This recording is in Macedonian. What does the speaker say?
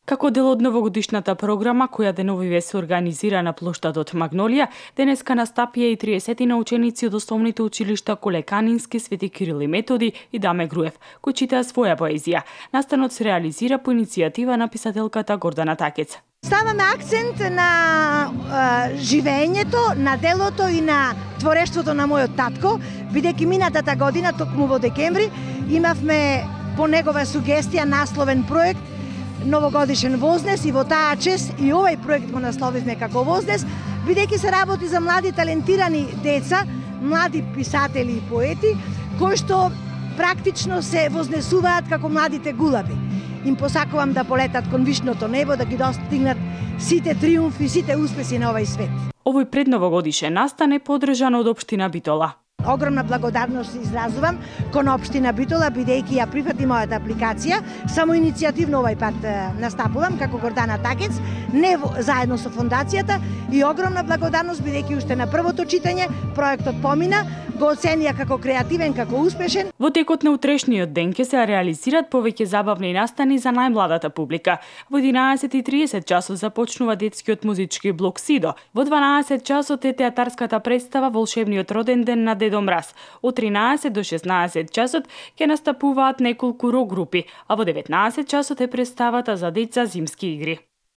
Како дел од новогодишната програма, која деновиве се организира на плоштадот Магнолија, денеска настапија и 30 ученици од основните училишта Колеканински, Свети Кирил и Методи и Даме Груев, кои читаа своја поезија. Настанот се реализира по иницијатива на писателката Гордана Такец. Ставаме акцент на живеењето, на делото и на творештвото на мојот татко, бидејќи минатата година, токму во декември, имавме по негова сугестија насловен проект Новогодишен вознес и во таа чест и овој проект го насловивме како вознес, бидејќи се работи за млади талентирани деца, млади писатели и поети, кои што практично се вознесуваат како младите гулаби. Им посакувам да полетат кон вишното небо, да ги достигнат сите триумфи, сите успеси на овој свет. Овој предновогодишен настан е поддржан од општина Битола. Огромна благодарност изразувам кон општина Битола, бидејќи ја прифати мојата апликација. Само иницијативно овој пат настапувам како Гордана Такец, не заедно со фондацијата, и огромна благодарност бидејќи уште на првото читање проектот помина, го оценија како креативен, како успешен. Во текот на утрешниот ден ќе се реализираат повеќе забавни настани за најмладата публика. Во 11:30 часот започнува детскиот музички блок Сидо. Во 12 часот е театарската представа Волшебниот роден ден на Дедо Мраз. Од 13 до 16 часот ќе настапуваат неколку рок групи, а во 19 часот е представата за деца Зимски игри.